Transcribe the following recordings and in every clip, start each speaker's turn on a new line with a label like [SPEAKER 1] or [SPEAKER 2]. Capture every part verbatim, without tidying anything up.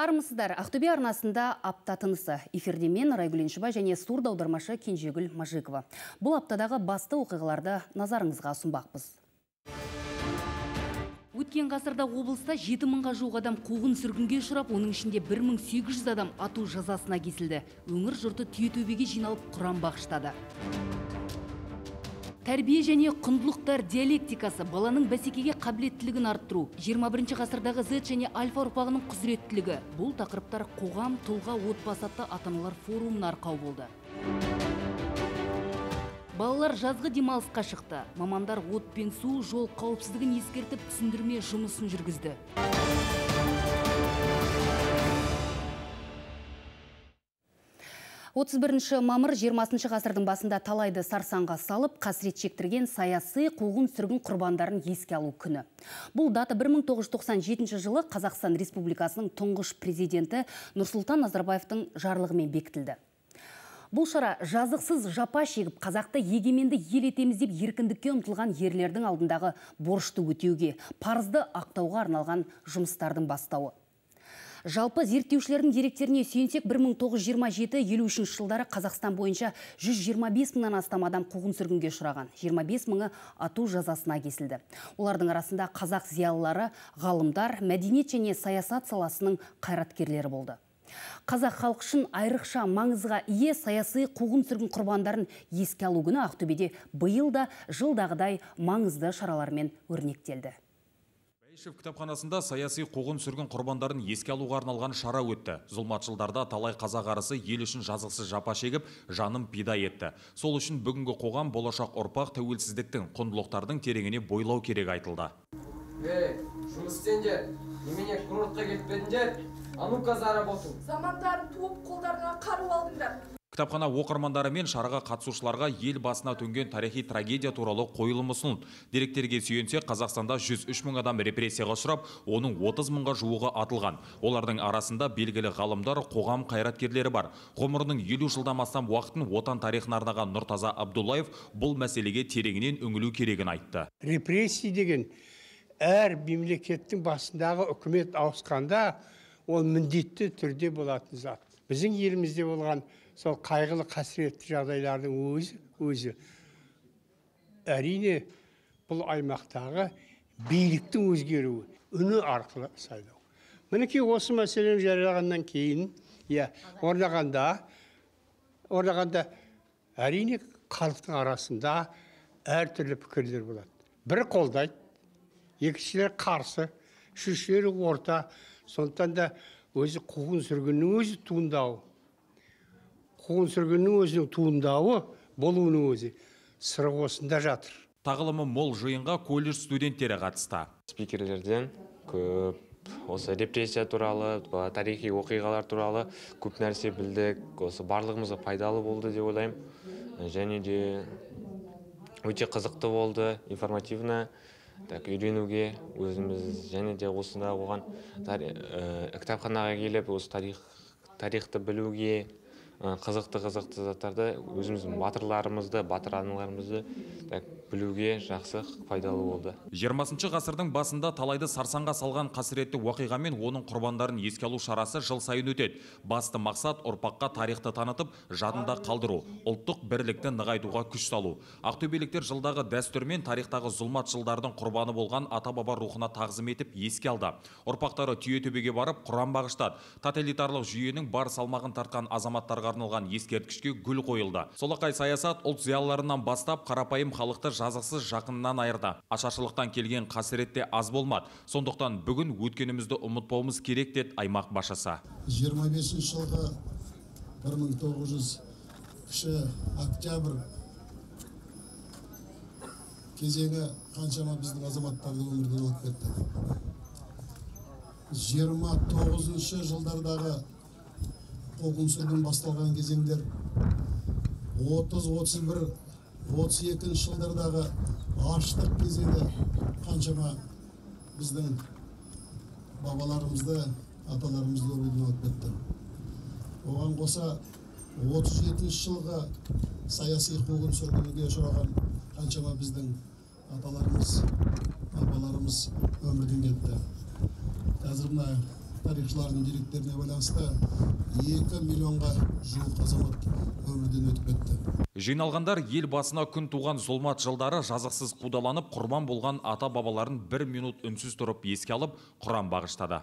[SPEAKER 1] Армысыздар, Ақтөбе арнасында апта тынысы. Эфирде мен Райгүл Еншібай және сурд аудармашы Кенжегүл Мажикова. Бұл аптадағы басты оқиғаларды назарыңызға ұсынбақпыз. Өткен ғасырда облыста жеті мыңға жуық адам қуғын сүргінге ұшырап, оның ішінде бір мың сегіз жүз адам ату жазасына кесілді. Өңір жұрты Түйетөбеге жиналып құран бағыштады. Тәрбие және құндылықтар диалектикасы баланың бәсекеге қабілеттілігін арттыру, жиырма бірінші ғасырдағы Z және альфа ұрпағының құзыреттілігі. Бұл тақырыптар қоғам, тұлға, отбасы атты ата-аналар форумына арқау болды. Балалар жазғы демалысқа шықты. Мамандар от пен су, жол қауіпсіздігін ескертіп, түсіндірме жұмысын жүргізді. отыз бірінші мамыр жиырмасыншы ғасырдың басында талайды сарсаңға салып, қасірет шектірген саяси қуғын сүргін құрбандарын еске алу күні. Бұл дата бір мың тоғыз жүз тоқсан жетінші жылы Қазақстан Республикасының тұңғыш президенті Нұрсұлтан Назарбаевтың жарлығымен бекітілді. Бұл шара жазықсыз жапа шегіп, қазақты егеменді ел етеміз деп еркіндікке ұмтылған ерлердің алдындағы борышты өтеуге, парызды ақтауға арналған жұмыстардың бастауы. Жалпы зерттеушілердің деректеріне сүйенсек, бір мың тоғыз жүз жиырма жеті елу үшінші жылдары Қазақстан бойынша жүз жиырма бес мыңнан астам адам қуғын сүргінге ұшыраған, жиырма бес мыңы ату жазасына кесілді. Олардың арасында қазақ зиялылары, ғалымдар, мәдениет және саясат саласының қайраткерлері болды. Қазақ халық үшін айрықша маңызға ие саяси қуғын сүргін құрбандарын еске алу күні Ақтөбеде биыл да жылдағыдай маңызды шаралармен өрнектелді.
[SPEAKER 2] Бәйішев кітапханасында саяси қуғын сүргін құрбандарын еске алуға арналған шара өтті. Зұлматшылдарда талай қазақ арысы ел үшін жазықсыз жапа шегіп, жанын пида етті. Сол үшін бүгінгі қоғам болашақ ұрпақ тәуелсіздіктің, құндылықтардың тереңіне бойлау керек айтылды.
[SPEAKER 3] Ей, жұмыс істеңдер, немене курортқа кетпедіңдер? А-ну-ка заработың.
[SPEAKER 4] Замандарын туып, қолдарына қару алдыңдар.
[SPEAKER 2] Кітапхана оқырмандары мен шараға қатысушыларға ел басына төнген тарихи трагедия туралы қойылым ұсынылды. Деректерге сүйенсек, Қазақстанда жүз үш мың адам репрессияға ұшырап, оның отыз мыңға жуығы атылған. Олардың арасында белгілі ғалымдар, қоғам қайраткерлері бар. Ғұмырының елу жылдан астам уақытын отан тарихына арнаған Нұртаза Абдуллаев бұл мәселеге тереңінен үңілу керегін айтты.
[SPEAKER 5] Репрессия деген әр мемлекеттің басындағы үкімет ауысқанда ол міндетті түрде болатын зат. Біздің елімізде болған сол қайғылы қасіретті жағдайлардың өзі, өзі әрине бұл аймақтағы биліктің өзгеруі, үні арқылы сайлау. Мінекей осы мәселені жариялағаннан кейін, иә, орнағанда, орнағанда әрине халықтың арасында әртүрлі пікірлер болады. Бірі қолдайды, екіншілер қарсы, үшіншілері орта, сондықтан да өзі қуғын сүргіннің өзі туындауы. Қуғын сүргіннің өзінің туындауы болуының өзі сыры осында жатыр.
[SPEAKER 2] Тағылымы мол жиынға колледж студенттері қатысты.
[SPEAKER 6] Спикерлерден көп осы репрессия туралы, тарихи оқиғалар туралы көп нәрсе білдік. Осы барлығымызға пайдалы болды деп ойлаймын. Және де өте қызықты болды, информативно. Так, үйренуге өзіміз және де осында оған кітапханаға келіп, осы тарих, тарихты білуге, қызықты-қызықты заттарды өзіміздің батырларымызды, батыр аналарымызды білуге жақсы пайдалы болды.
[SPEAKER 2] жиырмасыншы ғасырдың басында талайды сарсаңға салған қасіретті уақиға мен оның құрбандарын еске алу шарасы жыл сайын өтеді. Басты мақсат ұрпаққа тарихты танытып, жадында қалдыру, ұлттық бірлікті нығайтуға күш салу. Ақтөбеліктер жылдағы дәстүрмен тарихтағы зұлматшылдардың құрбаны болған ата-баба рухына тағзым етіп еске алды. Ұрпақтары Түйетөбеге барып құран бағыштады. Тоталитарлық жүйенің бар салмағын тартқан азаматтарға арналған ескерткішке гүл қойылды. Солақай саясат ұлт зиялыларынан бастап қарапайым халықты жазықсыз жақынынан айырды. Ашаршылықтан келген қасіретте аз болмады. Сондықтан бүгін өткенімізді ұмытпауымыз керек деді аймақ басшысы.
[SPEAKER 7] жиырма бесінші жылғы бір мың тоғыз жүз кіші октябрь кезеңі қаншама біздің азаматтарды өмірден алып кетті. жиырма тоғызыншы жылдардағы қуғын сүргін басталған кезеңдер отыз, отыз бір, отыз екінші жылдардағы аштық кезеңі қаншама біздің бабаларымызды, аталарымызды өмірден алып кетті. Оған қоса отыз жетінші жылғы саяси қуғын сүргінге ұшыраған қаншама біздің аталарымыз, бабаларымыз өмірден кетті. Қазір мына тарихшылардың деректеріне байланысты екі миллионға жуық азамат өмірден өтіп кетті.
[SPEAKER 2] Жиналғандар ел басына күн туған зұлмат жылдары жазықсыз қудаланып, құрбан болған ата-бабаларын бір минут үнсіз тұрып еске алып, Құран бағыштады.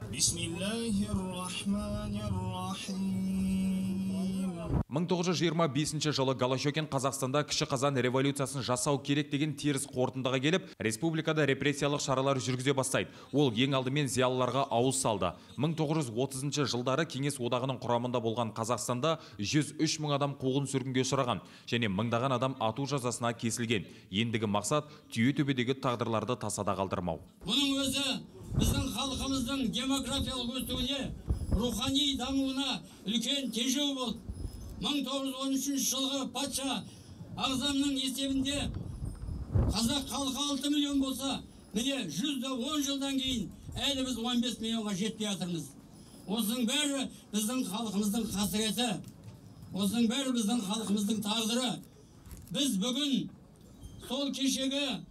[SPEAKER 2] мың тоғыз жүз жиырма бесінші жылы Голощекин Қазақстанда кіші қазан революциясын жасау керек деген теріс қорытындыға келіп, республикада репрессиялық шаралар жүргізе бастайды. Ол ең алдымен зиялыларға ауыз салды. мың тоғыз жүз отызыншы жылдары Кеңес одағының құрамында болған Қазақстанда жүз үш мың адам қуғын сүргінге ұшыраған және мыңдаған адам ату жазасына кесілген. Ендігі мақсат Түйетөбедегі тағдырларды тасада қалдырмау.
[SPEAKER 8] Бұның өзі біздің халқымыздың демографиялық өсуіне, рухани дамуына үлкен тежеу болды. мың тоғыз жүз он үшінші жылғы патша ағзамның есебінде қазақ халқы алты миллион болса, міне жүз он жылдан кейін әлі біз он бес миллионға жетпей жатырмыз. Осының бәрі біздің халқымыздың қасіреті. Осының бәрі біздің халқымыздың тағдыры. Біз бүгін сол кешегі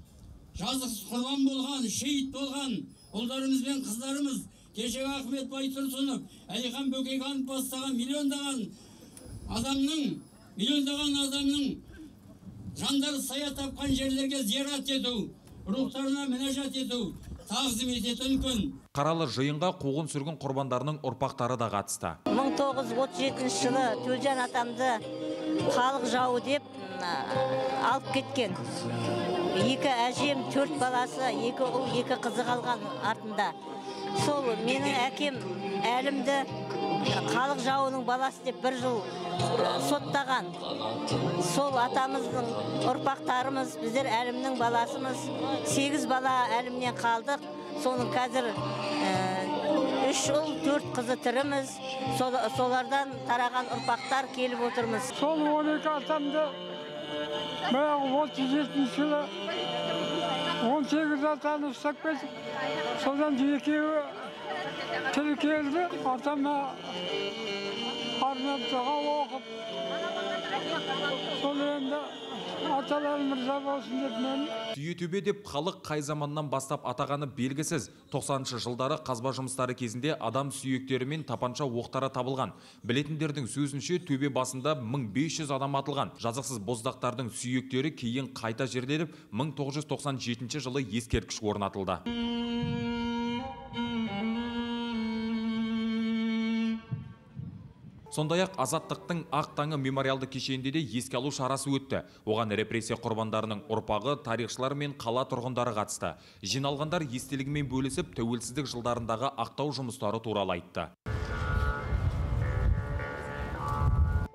[SPEAKER 8] жазықсыз құрбан болған, шейіт болған ұлдарымыз бен қыздарымыз, кешегі Ахмет Байтұрсынов, Әлихан Бөкейханов бастаған миллиондаған адамның, миллиондаған адамның жандары сая тапқан жерлерге зиярат ету, рухтарына мінәжат ету, тағзым ететін күн.
[SPEAKER 2] Қаралы жиынға қуғын сүргін құрбандарының ұрпақтары да қатысты.
[SPEAKER 9] мың тоғыз жүз отыз жетінші жылы Төлжан атамды халық жауы деп алып кеткен. Екі әжем, төрт баласы, екі ұл, екі қызы қалған артында. Сол менің әкем әлімді халық жауының баласы деп бір жыл соттаған. Сол атамыздың ұрпақтарымыз, біздер әлімнің баласымыз, сегіз бала әлімнен қалдық. Соның қазір үш ұл, төрт қызы тіріміз. Солардан тараған ұрпақтар келіп отырмыз.
[SPEAKER 10] Сол он екі атамды отыз жетінші жылы он сегіз атаны ұстап кетіп, содан екеуі тірі келді. Атама арнап дұға оқып, сол енді аталарым мырза болсын деп мен.
[SPEAKER 2] Түйетөбе деп халық қай заманнан бастап атағаны белгісіз. тоқсаныншы жылдары қазба жұмыстары кезінде адам сүйектері мен тапанша оқтары табылған. Білетіндердің сөзінше төбе басында мың бес жүз адам атылған. Жазықсыз боздақтардың сүйектері кейін қайта жерленіп, мың тоғыз жүз тоқсан жетінші жылы ескерткіш орнатылды. Сондай-ақ Азаттықтың Ақ таңы мемориалды кешенінде де еске алу шарасы өтті. Оған репрессия құрбандарының ұрпағы, тарихшылар мен қала тұрғындары қатысты. Жиналғандар естелігімен бөлісіп, тәуелсіздік жылдарындағы ақтау жұмыстары туралы айтты.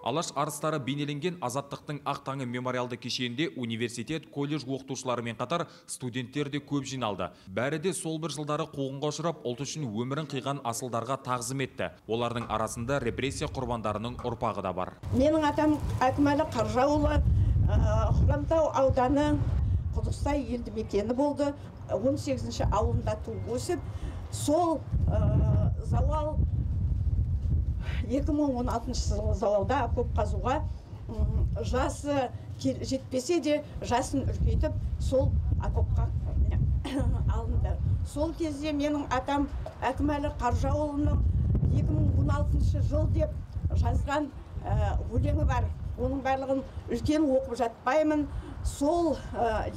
[SPEAKER 2] Алаш арыстары бейнеленген Азаттықтың Ақ таңы мемориалды кешенінде университет, колледж оқытушыларымен қатар студенттер де көп жиналды. Бәрі де сол бір жылдары қуғынға ұшырап, ұлт үшін өмірін қиған асылдарға тағзым етті. Олардың арасында репрессия құрбандарының ұрпағы да бар.
[SPEAKER 11] Менің атам Әкімәлі Қаржауылы, Хромтау ауданы Құдықсай елді мекені болды. он сегізінші ауылында туып өсіп, сол зауал екі мың он алтыншы жылғы зауалда көп қазуға жасы жетпесе де жасын үлкейтіп сол окопқа алынды. Сол кезде менің атам Әкімәлі Қаржауылының екі мың он алтыншы жыл деп жазған өлеңі бар. Оның барлығын үлкен оқып жатпаймын. Сол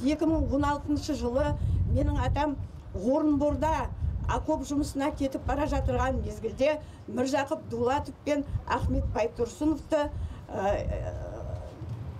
[SPEAKER 11] екі мың он алтыншы жылы менің атам Орынборда окоп жұмысына кетіп бара жатырған мезгілде Міржақып Дулатов пен Ахмет Байтұрсыновты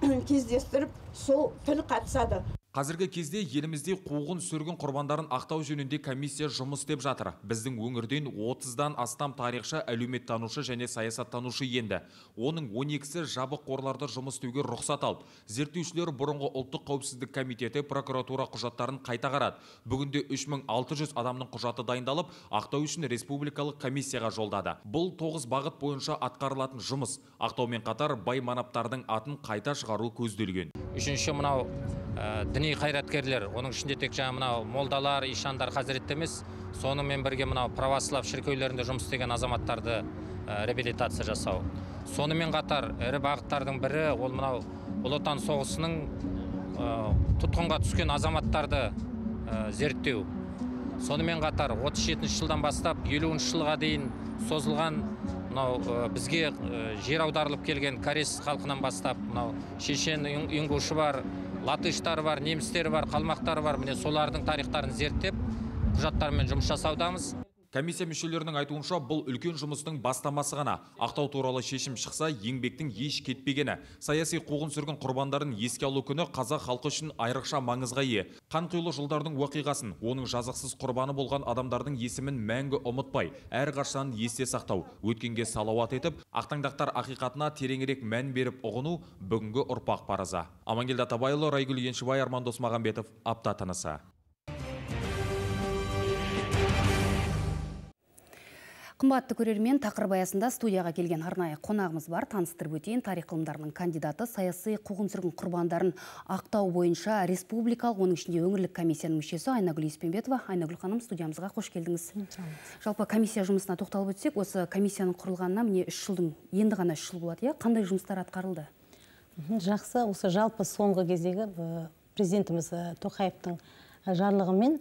[SPEAKER 11] кездестіріп, сол тіл қатысады.
[SPEAKER 2] Қазіргі кезде елімізде қуғын сүргін құрбандарын ақтау жөнінде комиссия жұмыс істеп жатыр. Біздің өңірден отыздан астам тарихшы, әлеуметтанушы және саясаттанушы енді. Оның он екісі жабық қорларда жұмыс істеуге рұқсат алып. Зерттеушілер бұрынғы ұлттық қауіпсіздік комитеті прокуратура құжаттарын қайта қарады. Бүгінде үш мың алты жүз адамның құжаты дайындалып, ақтау үшін республикалық комиссияға жолдады. Бұл тоғыз бағыт бойынша атқарылатын жұмыс. Ақтаумен қатар бай манаптардың атын қайта шығару көзделген.
[SPEAKER 12] Үшінші мынау діни қайраткерлер, оның ішінде тек жаңа мынау молдалар, ишандар, хазіретті емес, сонымен бірге мынау православ шіркеулерінде жұмыс істеген азаматтарды реабилитация жасау. Сонымен қатар ірі бағыттардың бірі ол мынау Ұлы Отан соғысының тұтқынға түскен азаматтарды зерттеу. Сонымен қатар отыз жетінші жылдан бастап елуінші жылға дейін созылған мынау бізге жер аударылып келген корей халқынан бастап мынау шешен ингушы бар, латыштар бар, немістер бар, қалмақтар бар. Міне солардың тарихтарын зерттеп, құжаттармен жұмыс жасаудамыз.
[SPEAKER 2] Комиссия мүшелерінің айтуынша, бұл үлкен жұмыстың бастамасы ғана. Ақтау туралы шешім шықса, еңбектің еш кетпегені. Саяси қуғын-сүргін құрбандарын еске алу күні қазақ халқы үшін айрықша маңызға ие. Қанқұйлы жылдардың уақиғасын, оның жазықсыз құрбаны болған адамдардың есімін мәңгі ұмытпай, әрқашан есте сақтау, өткенге салауат етіп, ақтаңдақтар ақиқатына тереңірек мән беріп ұғыну бүгінгі ұрпақ парызы. Амангелді Атабайұлы, Райгүл Еншібай, Арман Досмағамбетов, апта тынысы.
[SPEAKER 1] Қымбатты көрермен, тақырып аясында студияға келген арнайы қонағымыз бар. Таныстырып өтейін, тарих ғылымдарының кандидаты, саяси қуғын-сүргін құрбандарын ақтау бойынша республикалық, оның ішінде өңірлік комиссияның мүшесі Айнагүл Еспенбетова. Айнагүл ханым, студиямызға қош келдіңіз. Жалпы комиссия жұмысына тоқталып өтсек, осы комиссияның құрылғанына міне үш жылдың енді ғана үш жыл болады, қандай жұмыстар атқарылды?
[SPEAKER 13] Жақсы, осы жалпы соңғы кездегі президентіміз Тоқаевтың жарлығымен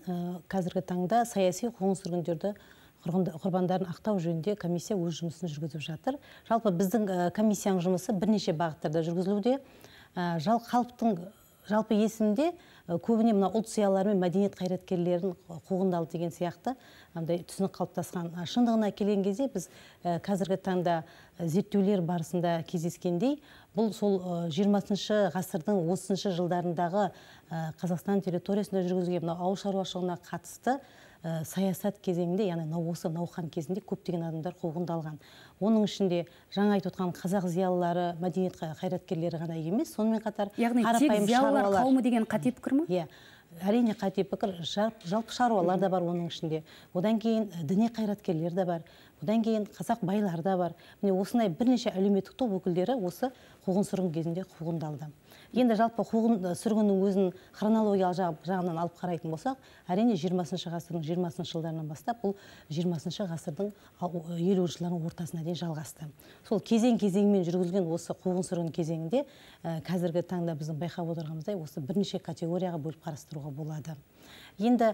[SPEAKER 13] қазіргі таңда саяси қуғын-сүргіндерді құрбандарын ақтау жөнінде комиссия өз жұмысын жүргізіп жатыр. Жалпы біздің комиссияның жұмысы бірнеше бағыттарда жүргізілуде. Жалпы халықтың жалпы есімде көбіне мына ұлт зиялылары мен мәдениет қайраткерлерін қуғындалды деген сияқты түсінік қалыптасқан. Шындығына келген кезде біз қазіргі таңда зерттеулер барысында кездескендей, бұл сол жиырмасыншы ғасырдың отызыншы жылдарындағы Қазақстан территориясында жүргізілген ауыл шаруашылығына қатысты саясат кезеңінде, яғни осы науқан кезінде көптеген адамдар қуғындалған. Оның ішінде жаңа айтып отқан қазақ зиялылары, мәдениет қайраткерлері ғана емес, сонымен қатар
[SPEAKER 1] яғни тек зиялылар қауымы деген қате пікір ме?
[SPEAKER 13] Иә, әрине қате пікір, жалпы шаруалар да бар оның ішінде. Одан кейін діни қайраткерлер де бар. Одан кейін қазақ байлар да бар. Міне осындай бірнеше әлеуметтік топ өкілдері осы қуғын-сүргін кезінде қуғындалды. Енді жалпы қуғын-сүргіннің өзін хронологиялық жағынан алып қарайтын болсақ, әрине жиырмасыншы ғасырдың жиырмасыншы жылдарынан бастап бұл жиырмасыншы ғасырдың елуінші жылдардың ортасына дейін жалғасты. Сол кезең-кезеңмен жүргізілген осы қуғын-сүргін кезеңінде қазіргі таңда біздің байқап отырғанымыздай осы бірнеше категорияға бөліп қарастыруға болады. Енді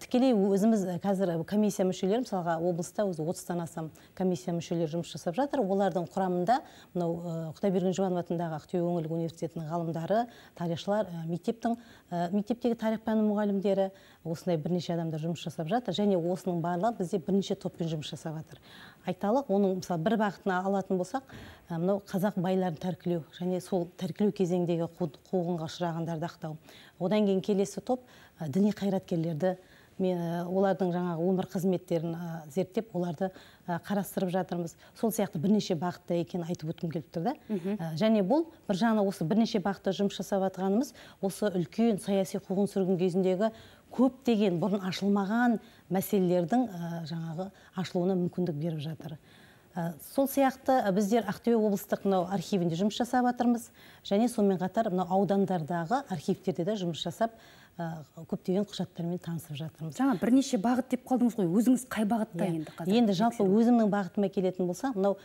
[SPEAKER 13] тікелей өзіміз қазір комиссия мүшелері, мысалға облыста өзі отыздан астам комиссия мүшелері жұмыс жасап жатыр. Олардың құрамында мынау Құдайберген Жұбанов атындағы Ақтөбе өңірлік университетінің ғалымдары, тарихшылар, мектептің мектептегі тарих пәні мұғалімдері, осындай бірнеше адамдар жұмыс жасап жатыр, және осының барлығы бізде бірнеше топпен жұмыс жасап жатыр. Айталық, оның мысалы бір бағытына алатын болсақ, мынау қазақ байларын тәркілеу және сол тәркілеу кезеңдегі қуғынға ұшырағандарды ақтау. Одан кейін келесі топ діни қайраткерлерді, олардың жаңағы өмір қызметтерін зерттеп, оларды қарастырып жатырмыз. Сол сияқты бірнеше бағытта екенін айтып өткім келіп тұр да. Және бұл бір жағынан осы бірнеше бағытта жұмыс жасап жатқанымыз осы үлкен саяси қуғын-сүргін кезіндегі көптеген бұрын ашылмаған мәселелердің жаңағы ашылуына мүмкіндік беріп жатыр. Сол сияқты біздер Ақтөбе облыстық мынау архивінде жұмыс жасап жатырмыз, және сонымен қатар мынау аудандардағы архивтерде де жұмыс жасап көптеген құжаттармен танысып жатырмыз.
[SPEAKER 1] Жаңа бірнеше бағыт деп қалдыңыз ғой, өзіңіз қай бағытта енді қазір?
[SPEAKER 13] Енді жалпы өзімнің бағытыма келетін болса, мынау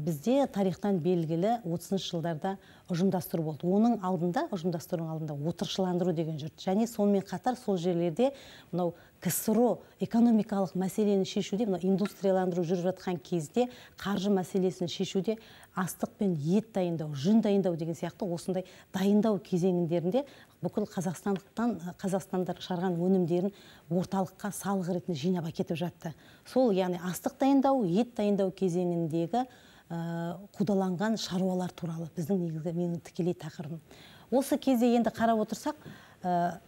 [SPEAKER 13] бізде тарихтан белгілі отызыншы жылдарда ұжымдастыру болды. Оның алдында, ұжымдастырудың алдында отырықшыландыру деген жүрді. Және сонымен қатар сол жерлерде мынау КСРО экономикалық мәселені шешуде, мынау индустрияландыру жүріп жатқан кезде қаржы мәселесін шешуде астық пен ет дайындау, жүн дайындау деген сияқты осындай дайындау кезеңдерінде бүкіл Қазақстандықтан Қазақстандар шығарған өнімдерін орталыққа салық ретінде жинап әкетіп жатты. Сол, яғни астық дайындау, ет дайындау кезеңіндегі қудаланған шаруалар туралы біздің негізгі менің тікелей тақырыбым. Осы кезде енді қарап отырсақ,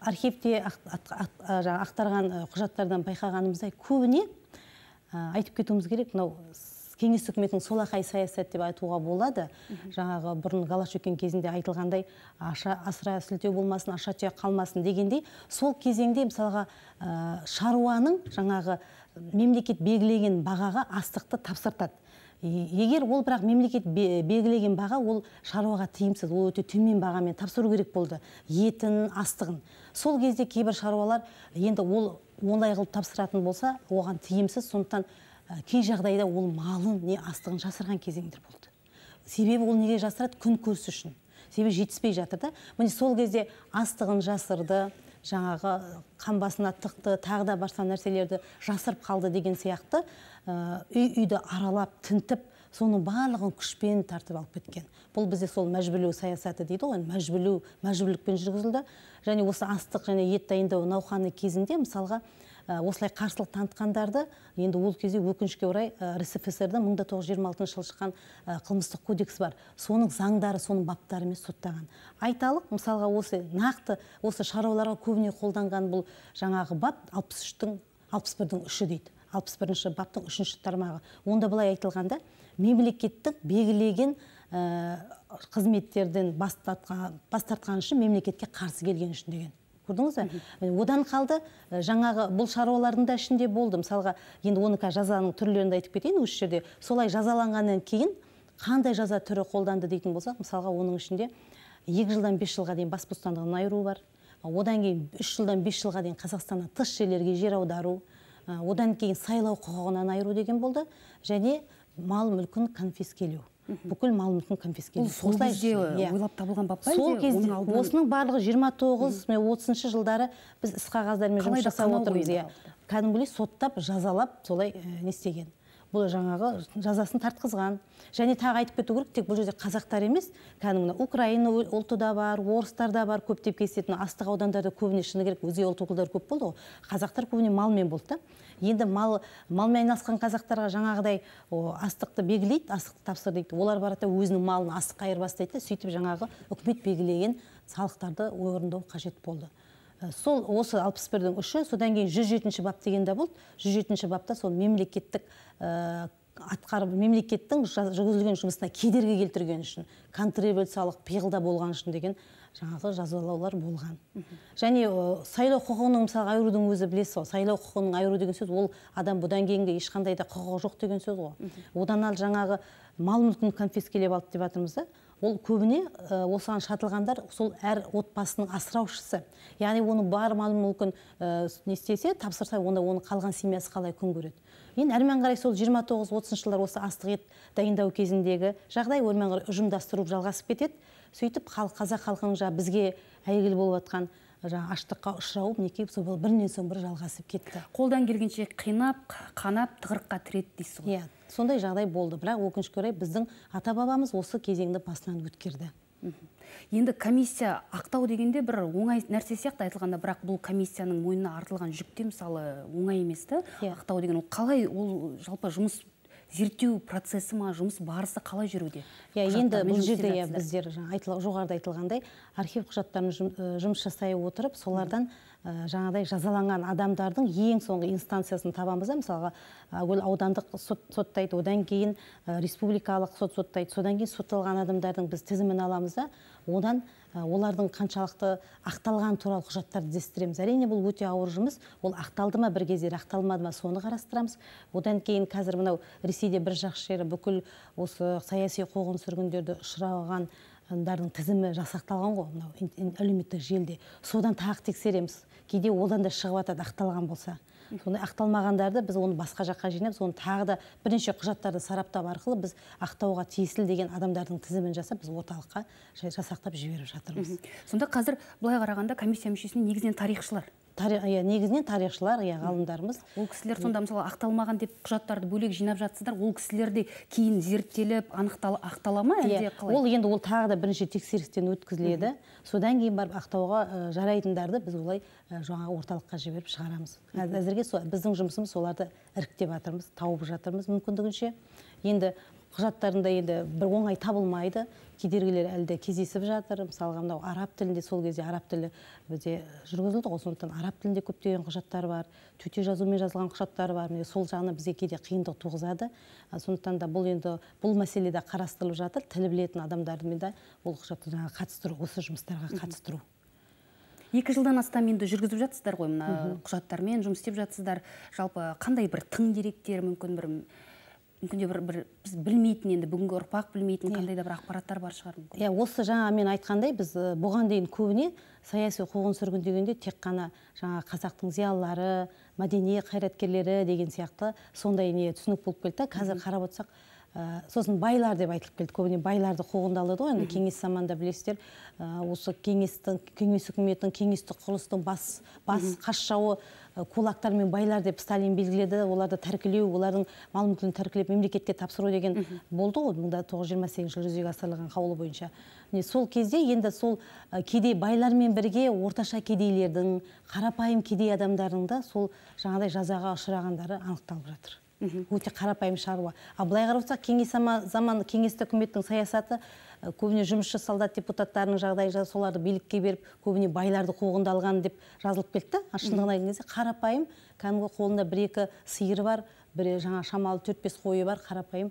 [SPEAKER 13] архивте ақтарған құжаттардан байқағанымыздай көбіне айтып кетуіміз керек, мынау кеңес үкіметінің солақай саясат деп айтуға болады. Жаңағы бұрын Голощекин кезінде айтылғандай асыра сілтеу болмасын, аша түйе қалмасын дегендей, сол кезеңде мысалға шаруаның жаңағы мемлекет белгілеген бағаға астықты тапсыртады. Егер ол бірақ мемлекет белгілеген баға, ол шаруаға тиімсіз, ол өте төмен бағамен тапсыру керек болды. Етін, астығын. Сол кезде кейбір шаруалар енді ол олай қылып тапсыратын болса, оған тиімсіз, сондықтан кей жағдайда ол малын не астығын жасырған кезеңдер болды. Себебі ол неге жасырады? Күн көрсі үшін. Себебі жетіспей жатыр да. Міне сол кезде астығын жасырды, жаңағы қан басына тықты, тағы да барса нәрселерді жасырып қалды деген сияқты үй-үйді аралап, тінтіп, соның барлығын күшпен тартып алып кеткен. Бұл бізде сол мәжбүрлеу саясаты дейді ғой, мәжбүрлеу, мәжбүрлікпен жүргізілді. Және осы астық және ет дайындау науқаны кезінде мысалға осылай қарсылық танытқандарды енді ол кезде өкінішке орай РСФСР-да мың тоғыз жүз жиырма алтыншы жылы шыққан қылмыстық кодекс бар. Соның заңдары, соның баптарымен соттаған. Айталық, мысалға осы нақты осы шаруаларға көбіне қолданған бұл жаңағы бап алпыс үштің алпыс бірдің үші дейді. алпыс бірінші баптың үшінші тармағы. Онда былай айтылғанда, мемлекеттің белгілеген қызметтерден бас тартқан үшін мемлекетке қарсы келген үшін деген. Көрдіңіз бе? Одан қалды, жаңағы бұл шаруалардың да ішінде болды. Мысалға, енді оны жазаның түрлерінде айтып кетейін осы жерде. Солай жазаланғаннан кейін қандай жаза түрі қолданды дейтін болсақ, мысалға, оның ішінде екі жылдан бес жылға дейін бас бостандығынан айыру бар. Одан кейін үш жылдан бес жылға дейін Қазақстаннан тыс жерлерге жер аудару, одан кейін сайлау құқығынан айыру деген болды, және мал мүлкін конфискелеу. Бүкіл мал мүлкін конфискелеу.
[SPEAKER 1] Сол кезде ойлап табылған бап па?
[SPEAKER 13] Сол кезде осының барлығы жиырма тоғыз отызыншы жылдары біз іс қағаздармен жұмыс жасап отырмыз. Кәдімгідей соттап, жазалап, солай не істеген. Бұл жаңағы жазасын тартқызған. Және тағы айтып кету керек, тек бұл жерде қазақтар емес, кәдімгі Украина ұлты да бар, орыстар да бар, көптеп кездесетін астық аудандарда көбіне шыны керек өзге ұлт өкілдері көп болды ғой. Қазақтар көбіне малмен болды. Енді мал малмен айналысқан қазақтарға жаңағыдай астықты белгілейді, астықты тапсыр дейді. Олар барады өзінің малын астыққа айырбастайды, сөйтіп жаңағы үкімет белгілеген салықтарды орындау қажет болды. Сол осы алпыс бірдің үші, содан кейін жүз жетінші бап дегенде болды. жүз жетінші бапта сол мемлекеттік атқарып, мемлекеттің жүргізілген жұмысына кедергі келтірген үшін, контрреволюциялық пиғылда болған үшін деген жаңағы жазалаулар болған. Және сайлау құқығының мысалы айырудың өзі білесіз, сайлау құқығының айыру деген сөз, ол адам бұдан кейінгі ешқандай да құқығы жоқ деген сөз ғой. Одан ал жаңағы мал мүлкін конфискелеп алды деп жатырмыз да. Ол көбіне осыған шатылғандар сол әр отбасының асыраушысы. Яғни оны бар мал мүлкін не істесе, тапсырса, онда оның қалған семьясы қалай күн көреді. Мен әрмен қарай сол жиырма тоғыз отызыншы жылдар осы астық ет дайындау кезіндегі жағдай өрмен қарай ұжымдастыру жалғасып кетеді. Сөйтіп қазақ халқының жаңа бізге әйгілі болып жатқан жаңа аштыққа ұшырауы мінекей сол бірінен соң бірі жалғасып кетті.
[SPEAKER 1] Қолдан келгенше қинап, қанап, тығырыққа тіреді дейсіз ғой.
[SPEAKER 13] Иә, сондай жағдай болды. Бірақ өкінішке орай біздің ата-бабамыз осы кезеңді басынан өткерді.
[SPEAKER 1] Енді комиссия ақтау дегенде бір оңай нәрсе сияқты айтылғанда, бірақ бұл комиссияның мойнына артылған жүкте мысалы оңай емес та. Ақтау деген ол қалай, ол жалпы жұмыс зерттеу процесі ма, жұмыс барысы қалай жүруде?
[SPEAKER 13] Енді бұл жерде біздер жоғарыда айтылғандай архив құжаттарын жұмыс жасай отырып, солардан жаңадай жазаланған адамдардың ең соңғы инстанциясын табамыз. Мысалға аудандық сот соттайды, одан кейін республикалық сот соттайды, содан кейін сотталған адамдардың біз тізімін аламыз да, одан олардың қаншалықты ақталған туралы құжаттарды іздестіреміз. Әрине бұл өте ауыр жұмыс. Ол ақталды ма бір кездері, ақталмады ма соны қарастырамыз. Одан кейін қазір мынау Ресейде бір жақсы жері бүкіл осы саяси қуғын сүргіндерді ұшыраған дардың тізімі жасақталған ғой, мынау әлеуметтік желіде. Содан тағы тексереміз. Кейде одан да шығып жатады ақталған болса. Сондай ақталмағандарды біз оны басқа жаққа жинап, соны тағы да бірнеше құжаттарды сараптап арқылы біз ақтауға тиесілі деген адамдардың тізімін жасап, біз орталыққа жасақтап жіберіп жатырмыз.
[SPEAKER 1] Сонда қазір былай қарағанда комиссия мүшесіне негізінен тарихшылар.
[SPEAKER 13] Негізінен тарихшылар, ғалымдарымыз.
[SPEAKER 1] Ол кісілер сонда мысалы ақталмаған деп құжаттарды бөлек жинап жатсыздар, ол кісілерде кейін зерттеліп, ақтала ма әлде қалай?
[SPEAKER 13] Ол енді ол тағы да бірінші тексерістен өткізіледі. Содан кейін барып ақтауға жарайтындарды біз олай жаңа орталыққа жіберіп шығарамыз. Әзірге біздің жұмысымыз соларды іріктеп жатырмыз, тауып жатырмыз мүмкіндігінше. Енді құжаттарында енді бір оңай табылмайды, кедергілер әлде кездесіп жатыр. Мысалға мынау араб тілінде, сол кезде араб тілі бізде жүргізілді ғой, сондықтан араб тілінде көптеген құжаттар бар, төте жазумен жазылған құжаттар бар. Сол жағынан бізге кейде қиындық туғызады. Сондықтан да бұл енді бұл мәселеде қарастырылып жатыр. Тілі білетін адамдармен де бұл құжатты қатыстыру, осы жұмыстарға қатыстыру.
[SPEAKER 1] Екі жылдан астам енді жүргізіп жатсыздар ғой, мына құжаттармен жұмыс істеп жатсыздар. Жалпы қандай бір тың деректер, мүмкін бір мүмкінде бір біз білмейтін, енді бүгінгі ұрпақ білмейтін қандай да бір ақпараттар бар шығар мүмкін.
[SPEAKER 13] Иә, осы жаңа мен айтқандай, біз бұған дейін көбіне саяси қуғын сүргін дегенде тек қана жаңа қазақтың зиялылары, мәдени қайраткерлері деген сияқты сондай не түсінік болып келді. Қазір қарап отырсақ, сосын байлар деп айтылып келді. Көбіне байларды қуғында алады ғой, енді кеңес заманында білесіздер, осы кеңестің, кеңес үкіметінің, кеңестік құрылыстың бас, бас қас жауы кулактар мен байлар деп Сталин белгіледі. Оларды тәркілеу, олардың мал мүлкін тәркілеп мемлекетке тапсыру деген болды ғой, мың тоғыз жүз жиырма сегізінші жылы жүзеге асырылған қаулы бойынша. Сол кезде енді сол кедей байлармен бірге орташа кедейлердің, қарапайым кедей адамдардың да сол жаңағыдай жазаға ұшырағандары анықталып жатыр. Өте қарапайым шаруа. А былай қарасақ, кеңес заман кеңестік үкіметтің саясаты көбіне жұмысшы солдат депутаттарының жағдайы соларды билікке беріп, көбіне байларды қуғында алған деп жазылып кетті. Шындығына келген кезде қарапайым, кәдімгі қолында бір-екі сиыры бар, бір жаңа шамалы төрт-бес қойы бар қарапайым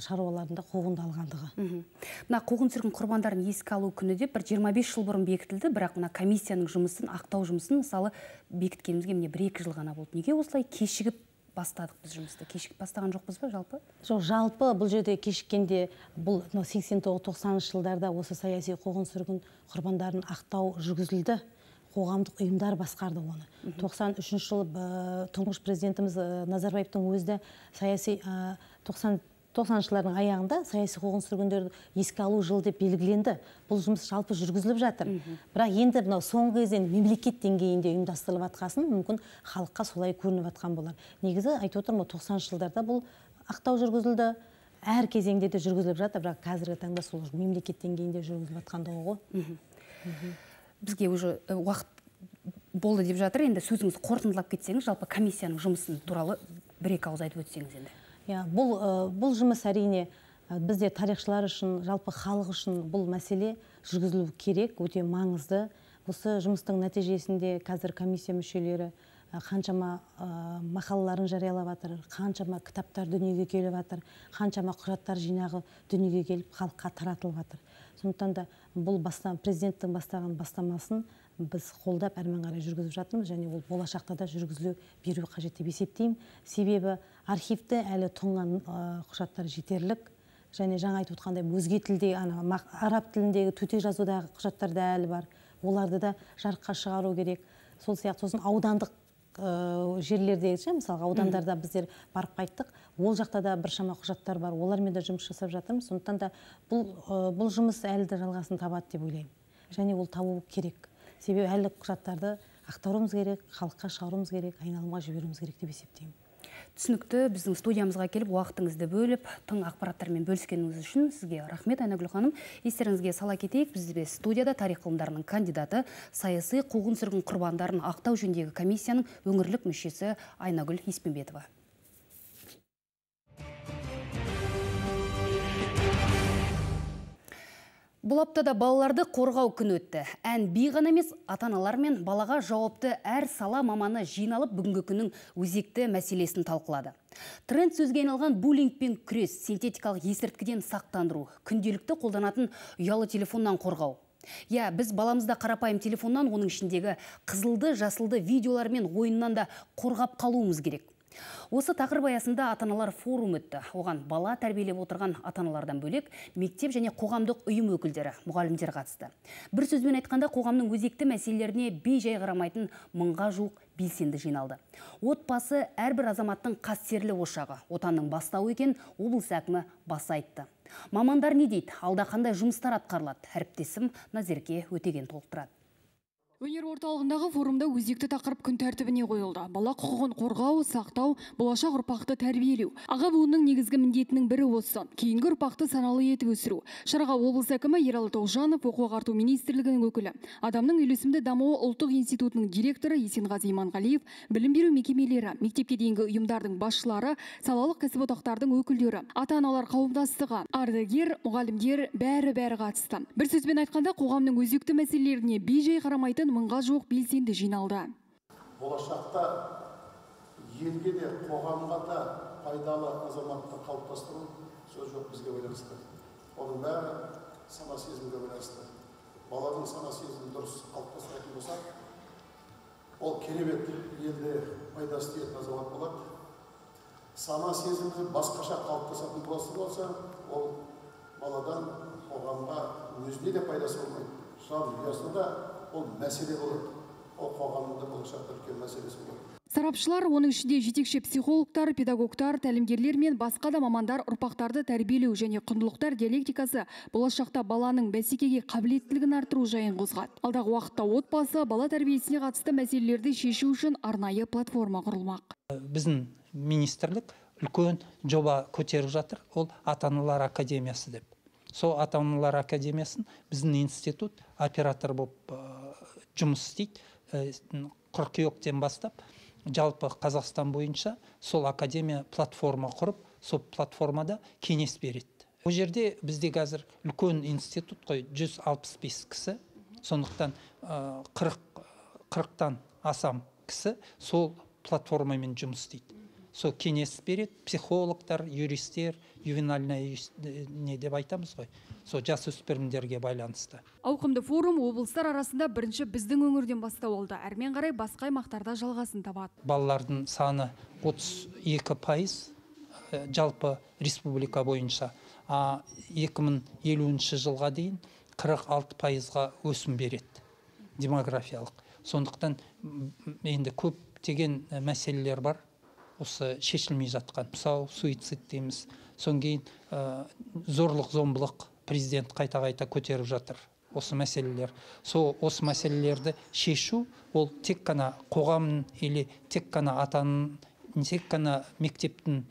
[SPEAKER 13] шаруаларында қуғында алғандығы.
[SPEAKER 1] Мына қуғын-сүргін құрбандарын еске алу күні деп бір жиырма бес жыл бұрын бекітілді, бірақ мына комиссияның жұмысын, ақтау жұмысын мысалы бекіткенімізге міне бір-екі жыл ғана болды. Неге осылай кешігіп бастадық біз жұмысты? Кешігіп бастаған жоқпыз ба жалпы?
[SPEAKER 13] Жоқ, жалпы бұл жерде кешіккенде бұл сексен тоғыз тоқсаныншы жылдарда осы саяси қуғын-сүргін құрбандарын ақтау жүргізілді. Қоғамдық ұйымдар басқарды оны. тоқсан үшінші жылы тұңғыш президентіміз Назарбаевтың өзі саяси тоқсаныншы жылдардың аяғында саяси қуғын-сүргіндерді еске алу жылы деп белгіленді. Бұл жұмыс жалпы жүргізіліп жатыр. Бірақ енді мынау соңғы кезде мемлекет деңгейінде ұйымдастырылып жатқасын мүмкін халыққа солай көрініп жатқан болар. Негізі айтып отырмын, тоқсаныншы жылдарда бұл ақтау жүргізілді. Әр кезеңде де жүргізіліп жатыр, бірақ қазіргі таңда сол мемлекет деңгейінде жүргізіліп жатқандығы ғой.
[SPEAKER 1] Бізге уже уақыт болды деп жатыр. Енді сөзіңіз қорытындылап кетсеңіз, жалпы комиссияның жұмысын туралы бір-екі ауыз айтып өтсеңіз енді.
[SPEAKER 13] Бұл жұмыс әрине бізде тарихшылар үшін, жалпы халық үшін бұл мәселе жүргізілу керек, өте маңызды. Осы жұмыстың нәтижесінде қазір комиссия мүшелері қаншама мақалаларын жариялап жатыр, қаншама кітаптар дүниеге келіп жатыр, қаншама құжаттар жинағы дүниеге келіп халыққа таратылып жатыр. Сондықтан да бұл президенттің бастаған бастамасын біз қолдап әрмен қарай жүргізіп жатырмыз, және ол болашақта да жүргізілу беру қажет деп есептеймін. Себебі архивте әлі тұнған құжаттар жетерлік, және жаңа айтып отқандай өзге тілде, араб тіліндегі төте жазудағы құжаттар да әлі бар. Оларды да жарыққа шығару керек. Сол сияқты сосын аудандық жерлердегі, мысалы аудандарда біздер барып қайттық, ол жақта да біршама құжаттар бар, олармен де жұмыс жасап жатырмыз. Сондықтан да бұл жұмыс әлі де жалғасын табады деп ойлаймын. Және ол табу керек. Себебі әлі құжаттарды ақтаруымыз керек, халыққа шығаруымыз керек, айналымға жіберуіміз керек деп есептеймін.
[SPEAKER 1] Түсінікті, біздің студиямызға келіп, уақытыңызды бөліп, тың ақпараттармен бөліскеніңіз үшін сізге рахмет, Айнагүл ханым. Естеріңізге сала кетейік, бізде студияда тарих ғылымдарының кандидаты, саяси қуғын-сүргін құрбандарын ақтау жөніндегі комиссияның өңірлік мүшесі Айнагүл Еспенбетова. Бұл аптада балаларды қорғау күні өтті. Ән би ғана емес, ата-аналар мен балаға жауапты әр сала маманы жиналып бүгінгі күннің өзекті мәселесін талқылады. Тренд сөзге айналған буллингпен күрес, синтетикалық есірткіден сақтандыру, күнделікті қолданатын ұялы телефоннан қорғау. Я, біз баламызда қарапайым телефоннан, оның ішіндегі қызылды, жасылды видеолар мен ойыннан да қорғап қалуымыз керек. Осы тақырып аясында ата-аналар форум өтті. Оған бала тәрбиелеп отырған ата-аналардан бөлек мектеп және қоғамдық ұйым өкілдері, мұғалімдер қатысты. Бір сөзбен айтқанда, қоғамның өзекті мәселелеріне бей-жай қарамайтын мыңға жуық белсенді жиналды. Отбасы әрбір азаматтың қастерлі ошағы, отанның бастауы екен облыс әкімі баса айтты. Мамандар не дейді? Алда қандай жұмыстар атқарылады? Әріптесім Назерке Өтеген толықтырады.
[SPEAKER 14] Өнер орталығындағы форумда өзекті тақырып күн тәртібіне қойылды. Бала құқығын қорғау, сақтау, болашақ ұрпақты тәрбиелеу. Аға буынның негізгі міндетінің бірі осы. Кейінгі ұрпақты саналы етіп өсіру. Шараға облыс әкімі Ералы Тоғжанов, оқу-ағарту министрлігінің өкілі, Адамның үйлесімді дамуы ұлттық институтының директоры Есенғазы Иманғалиев, білім беру мекемелері, мектепке дейінгі ұйымдардың басшылары, салалық кәсіподақтардың өкілдері, ата-аналар қауымдастығы, ардагер, мұғалімдер бәрі-бәрі қатысты. Бір сөзбен айтқанда, қоғамның өзекті мәселелеріне бей-жай қарамайтын мыңға жуық белсенді жиналды.
[SPEAKER 7] Болашақта елге де, қоғамға да пайдалы азаматты қалыптастыру сөз жоқ бізге байланысты. Оның бәрі сана сезімге байланысты. Баланың сана сезімі дұрыс қалыптастыратын болса, ол керемет елде пайдасы тиетін азамат болады. Сана сезімі басқаша қалыптасатын болса, ол баладан қоғамға өзіне де пайдасы болмайды. Жан дүниесінде ол мәселе болады. ол қоғамның болашақта үлкен мәселесі болады.
[SPEAKER 14] Сарапшылар, оның ішінде жетекші психологтар, педагогтар, тәлімгерлер мен басқа да мамандар ұрпақтарды тәрбиелеу және құндылықтар диалектикасы болашақта баланың бәсекеге қабілеттілігін арттыру жайын қозғады. Алдағы уақытта отбасы бала тәрбиесіне қатысты мәселелерді шешу үшін арнайы платформа құрылмақ.
[SPEAKER 15] Біздің министрлік үлкен жоба көтеріп жатыр, ол ата-аналар академиясы деп. Сол ата-аналар академиясын біздің институт оператор болып жұмыс істейді. Қыркүйектен бастап жалпы Қазақстан бойынша сол академия платформа құрып, сол платформада кеңес береді. Ол жерде бізде қазір үлкен институт қой, жүз алпыс бес кісі, сондықтан қырықтан асам кісі сол платформамен жұмыс істейді. Сол кеңес береді, психологтар, юристер, ювенальная не деп айтамыз ғой, сол жасөспірімдерге байланысты.
[SPEAKER 14] Ауқымды форум облыстар арасында бірінші біздің өңірден бастау алды. Әрмен қарай басқа аймақтарда жалғасын табады.
[SPEAKER 15] Балалардың саны отыз екі пайыз жалпы республика бойынша, а екі мың елуінші жылға дейін қырық алты пайызға өсім береді демографиялық. Сондықтан енді көптеген мәселелер бар. Осы шешілмей жатқан. Мысалы, суицид дейміз. Соң кейін зорлық зомбылық президент қайта-қайта көтеріп жатыр. Осы мәселелер. Сол осы мәселелерді шешу, ол тек қана қоғамның или тек қана атаның, тек қана мектептің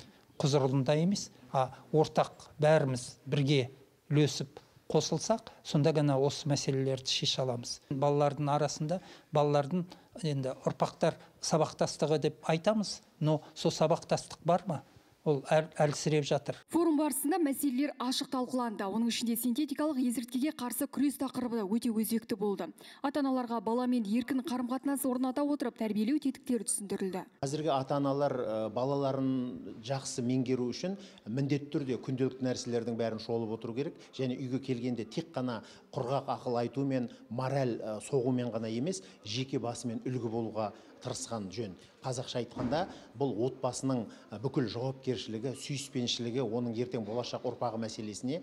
[SPEAKER 15] құзырында емес, а ортақ бәріміз бірге үлесіп қосылсақ, сонда ғана осы мәселелерді шеше аламыз. Балалардың арасында, балалардың енді ұрпақтар сабақтастығы деп айтамыз, но сол сабақтастық бар ма? Ол әлсіреп жатыр.
[SPEAKER 14] Форум барысында мәселелер ашық талқыланды. Оның ішінде синтетикалық есірткіге қарсы күрес тақырыбы өте өзекті болды. Ата-аналарға баламен еркін қарым-қатынас орната отырып тәрбиелеу тетіктері түсіндірілді.
[SPEAKER 16] Қазіргі ата-аналар балаларын жақсы меңгеру үшін міндетті түрде күнделікті нәрселердің бәрін шолып отыру керек, және үйге келгенде тек қана құрғақ ақыл айту мен мораль соғумен ғана емес, жеке басымен үлгі болуға тырысқан жөн. Қазақша айтқанда, бұл отбасының бүкіл жауапкершілігі, сүйіспеншілігі, оның ертең болашақ ұрпағы мәселесіне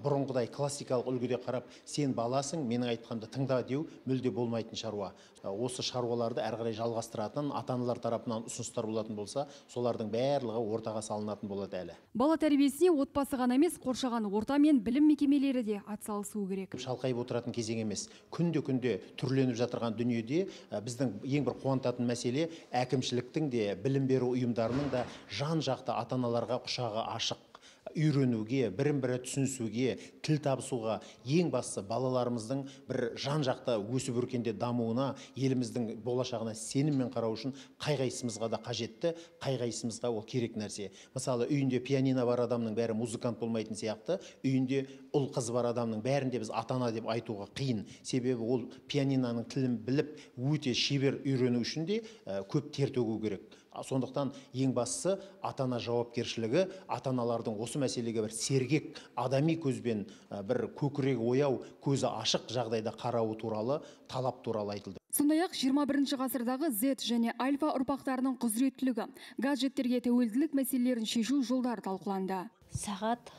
[SPEAKER 16] бұрынғыдай классикалық үлгіде қарап, сен баласың, менің айтқанды тыңда деу мүлде болмайтын шаруа. Осы шаруаларды әрі қарай жалғастыратын, ата-аналар тарапынан ұсыныстар болатын болса, солардың барлығы ортаға салынатын болады әлі.
[SPEAKER 14] Бала тәрбиесіне отбасы ғана емес, қоршаған орта мен білім мекемелері де атсалысуы керек.
[SPEAKER 16] Шалқайып отыратын кезең емес. Күнде-күнде түрленіп жатырған дүниеде біздің ең бір қуантатын мәселе әкімшіліктің де, білім беру ұйымдарының да жан-жақты ата-аналарға құшағы ашық, үйренуге, бірін-бірі түсінісуге, тіл табысуға, ең бастысы балаларымыздың бір жан-жақты өсіп өркенде дамуына, еліміздің болашағына сеніммен қарау үшін қай-қайсымызға да қажетті, қай-қайсымызға ол керек нәрсе. Мысалы, үйінде пианино бар адамның бәрі музыкант болмайтын сияқты, үйінде ұл қыз бар адамның бәрінде біз ата-ана деп айтуға қиын. Себебі ол пианиноның тілін біліп, өте шебер үйрену үшін де көп тер төгу керек. Сондықтан ең бастысы ата-ана жауапкершілігі, ата-аналардың осы мәселеге бір сергек, адами көзбен бір көкірегі ояу, көзі ашық жағдайда қарауы туралы, талап туралы айтылды.
[SPEAKER 14] Сондай-ақ жиырма бірінші ғасырдағы Z және альфа ұрпақтарының құзыреттілігі, гаджеттерге тәуелділік мәселелерін шешу жолдары талқыланды.
[SPEAKER 9] Сағат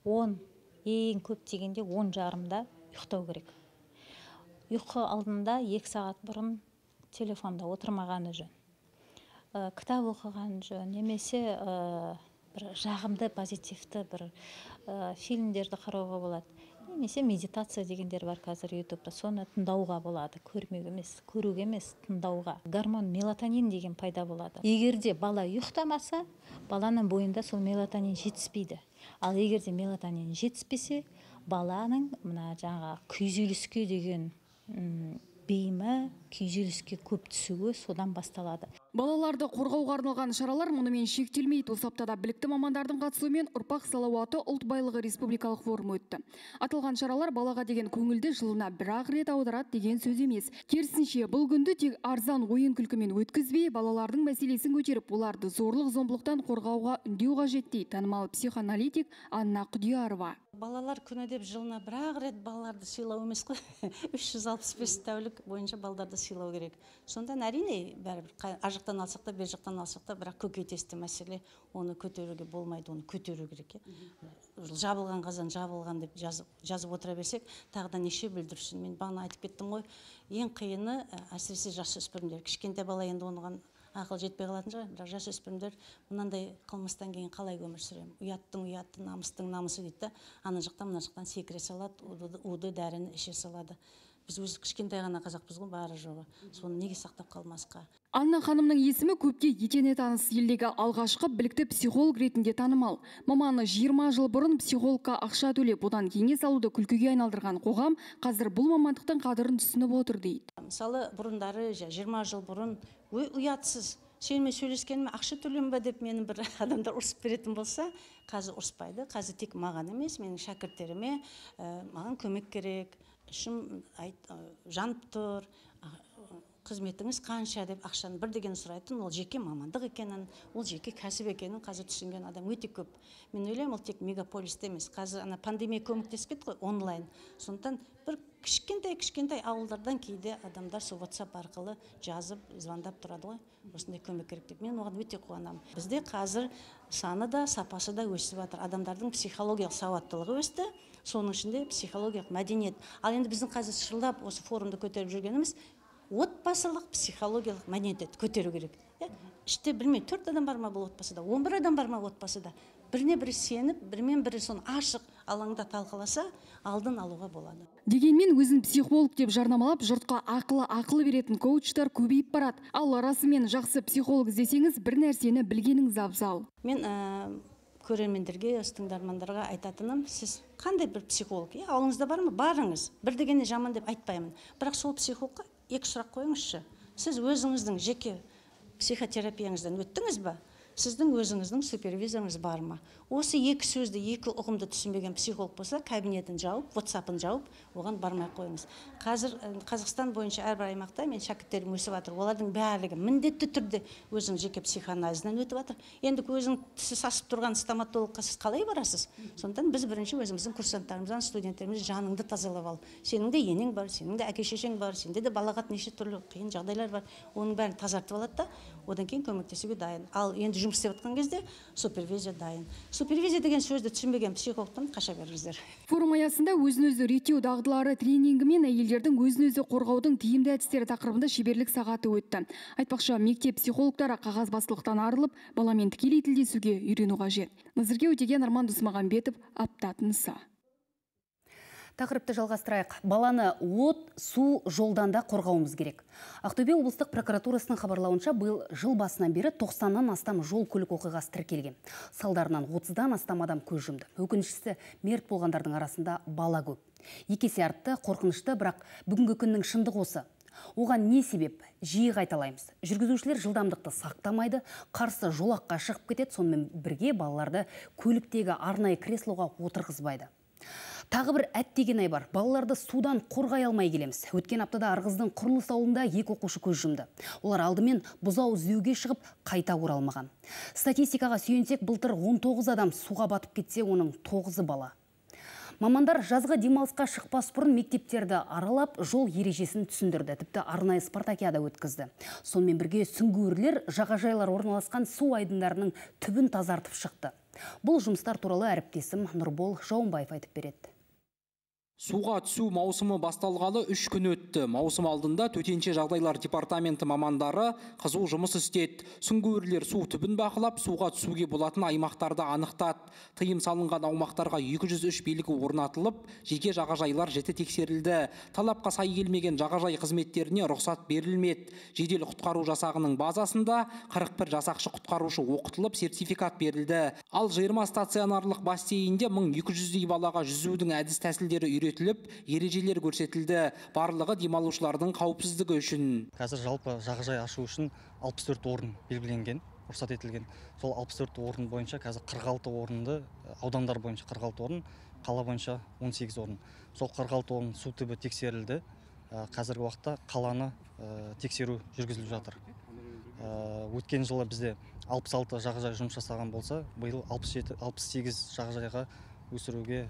[SPEAKER 9] он, ең көп дегенде он жарымда ұйықтау керек. Ұйқы алдында екі сағат бұрын телефонда отырмағаны жөн. Кітап оқыған жөн, немесе бір жағымды, позитивті бір фильмдерді қарауға болады. Немесе медитация дегендер бар қазір ютубта, соны тыңдауға болады, көрмеуге емес, көруге емес, тыңдауға. Гормон мелатонин деген пайда болады. Егерде бала ұйықтамаса, баланың бойында сол мелатонин жетіспейді. Ал егерде мелатонин жетіспесе, баланың мына жаңа күйзеліске деген бейімі, күйзеліске көп түсуі содан басталады.
[SPEAKER 14] Балаларды қорғауға арналған шаралар мұнымен шектелмейді. Осы аптада білікті мамандардың қатысуымен ұрпақ салауаты ұлт байлығы республикалық форум өтті. Аталған шаралар балаға деген көңілді жылына бір-ақ рет аударады деген сөз емес. Керісінше, бұл күнді тек арзан ойын күлкімен өткізбей, балалардың мәселесін көтеріп, оларды зорлық зомбылықтан қорғауға үндеу қажет дейді танымал психоаналитик Анна Құдиярова.
[SPEAKER 17] Балалар күні деп жылына бір-ақ рет балаларды сыйлау емес қой. үш жүз алпыс бес тәулік бойынша балаларды халықты сыйлау керек. Сонда әрине бәрібір ар жақтан алсақ та, бер жақтан алсақ та, бірақ көкейтесті мәселе, оны көтеруге болмайды, оны көтеру керек. Жабылған қазан жабылған деп жазып отыра берсек, тағы да неше бүлдірсін. Мен бағана айтып кеттім ғой, ең қиыны әсіресе жасөспірімдер. Кішкентай бала енді оныған ақыл жетпей қалатын шығар, бірақ жасөспірімдер мынандай қылмыстан кейін қалай өмір сүремін? Ұяттың ұятты, намыстың намысы дейді. Ана жақтан, мына жақтан секіре салады, уды дәріні іше салады. Біз өзі кішкентай ғана қазақпыз ғой, бары жоғы. Соны неге сақтап қалмасқа?
[SPEAKER 14] Анна ханымның есімі көпке етене таныс, елдегі алғашқы білікті психолог ретінде танымал. Маманы жиырма жыл бұрын психологқа ақша төлеп, одан кеңес алуды күлкіге айналдырған қоғам қазір бұл мамандықтың қадірін түсініп отыр дейді.
[SPEAKER 17] Мысалы, бұрындары жиырма жыл бұрын ұятсыз, сенімен сөйлескеніме ақша төленбе деп мені бір адамдар ұрсып беретін болса, қазір ұрыспайды. Қазір тек маған емес, менің шәкірттеріме маған көмек керек, ішім жанып тұр, қызметіңіз қанша деп ақшаны бір деген сұрайтын, ол жеке мамандық екенін, ол жеке кәсіп екенін қазір түсінген адам өте көп. Мен ойлаймын, ол тек мегаполисте емес. Қазір ана пандемия көмектесіп кетті ғой, онлайн. Сондықтан бір кішкентай-кішкентай ауылдардан кейде адамдар сол WhatsApp арқылы жазып, звондап тұрады ғой. Осындай көмек керек деп. Мен оған өте қуанамын. Бізде қазір саны да, сапасы да өсіп жатыр. Адамдардың психологиялық сауаттылығы өсті. Соның ішінде психологиялық мәдениет. Ал енді біздің қазір шырылдап осы форумды көтеріп жүргеніміз отбасылық психологиялық мәдениетті көтеру керек. Іште білмей, төрт адам бар ма бұл отбасыда, он бір адам бар ма отбасыда. Біріне бірі сеніп, бірмен бірі соны ашық алаңда талқыласа, алдын алуға болады.
[SPEAKER 14] Дегенмен өзін психолог деп жарнамалап, жұртқа ақылы ақылы беретін коучтар көбейіп барады. Ал расымен жақсы психолог іздесеңіз, бір нәрсені білгеніңіз абзал.
[SPEAKER 17] Мен көрермендерге, тыңдармандарға айтатыным, сіз қандай бір психолог? Ауылыңызда бар ма? Барыңыз. Бір дегенде жаман деп айтпаймын. Бірақ сол психологқа екі сұрақ қойыңызшы. Сіз өзіңіздің жеке психотерапияңыздан өттіңіз ба? Сіздің өзіңіздің супервизорыңыз бар ма? Осы екі сөзді, екі ұғымды түсінбеген психолог болса, кабинетін жауып, WhatsApp-ын жауып, оған бармай қойыңыз. Қазір Қазақстан бойынша әрбір аймақта мен шәкірттерім өсіп жатыр. Олардың барлығы міндетті түрде өзінің жеке психоанализінен өтіп жатыр. Енді өзің тісі сасып тұрған стоматологқа сіз қалай барасыз? Сондықтан біз бірінші өзіміздің курсанттарымыздан, студенттеріміз жаныңды тазалап ал. Сенің де енең бар, сенің де әке-шешең бар, сенде де балағат неше түрлі қиын жағдайлар бар. Оның бәрін тазартып алады да, одан кейін көмектесуге дайын. Ал енді жұмыс істеп жатқан кезде супервизия дайын. Супервизия деген сөзді түсінбеген психологтан қаша беріңіздер.
[SPEAKER 14] Форум аясында өзін-өзі реттеу дағдылары тренингі мен әйелдердің өзін-өзі қорғаудың тиімді әдістері тақырыбында шеберлік сағаты өтті. Айтпақшы, мектеп психологтары қағазбастылықтан арылып, баламен тікелей тілдесуге үйрену қажет. Назерке Өтеген, Арман Досмағамбетов, Аптатынса.
[SPEAKER 1] Тақырыпты жалғастырайық. Баланы от, су, жолдан да қорғауымыз керек. Ақтөбе облыстық прокуратурасының хабарлауынша биыл жыл басынан бері тоқсаннан астам жол көлік оқиғасы тіркелген. Салдарынан отыздан астам адам көз жұмды. Өкініштісі, мерт болғандардың арасында бала көп. Екі есе артты, қорқынышты, бірақ бүгінгі күннің шындығы осы. Оған не себеп? Жиі қайталаймыз. Жүргізушілер жылдамдықты сақтамайды, қарсы жолаққа шығып кетеді, сонымен бірге балаларды көліктегі арнайы креслоға отырғызбайды. Тағы бір әттеген ай бар. Балаларды судан қорғай алмай келеміз. Өткен аптада Арғыздың Құрылыс ауылында екі оқушы көз жұмды. Олар алдымен бұзау іздеуге шығып, қайта оралмаған. Статистикаға сүйенсек, былтыр он тоғыз адам суға батып кетсе, оның тоғызы бала. Мамандар жазғы демалысқа шықпас бұрын мектептерді аралап, жол ережесін түсіндірді, тіпті арнайы спартакиада өткізді. Сонымен бірге сүңгуірлер жағажайлар орналасқан су айдындарының түбін тазартып шықты. Бұл жұмыстар туралы әріптесім Нұрбол Жауынбаев айтып береді.
[SPEAKER 18] Суға түсу маусымы басталғалы үш күн өтті. Маусым алдында төтенше жағдайлар департаменті мамандары қызу жұмыс істеді. Сүңгуірлер су түбін бақылап, суға түсуге болатын аймақтарды анықтады. Тыйым салынған аумақтарға екі жүз үш белгі орнатылып, жеке жағажайлар жіті тексерілді. Талапқа сай келмеген жағажай қызметтеріне рұқсат берілмеді. Жедел құтқару жасағының базасында қырық бір жасақшы құтқарушы оқытылып, сертификат берілді. Ал жиырма стационарлық бассейнде мың екі жүздей балаға жүзудің әдіс тәсілдері үйретілді. Өтіліп, ережелер көрсетілді. Барлығы демалушылардың қауіпсіздігі үшін.
[SPEAKER 19] Қазір жалпы жағажай ашу үшін алпыс төрт орын белгіленген, рұқсат етілген. Сол алпыс төрт орын бойынша қазір қырық алты орынды, аудандар бойынша қырық алты орын, қала бойынша он сегіз орын. Сол қырық алты орын су түбі тексерілді. Қазіргі уақытта қаланы тексеру жүргізіліп жатыр. Өткен жылы бізде алпыс алты жағажай жұмыс жасаған болса, биыл алпыс сегіз жағажайға өсіруге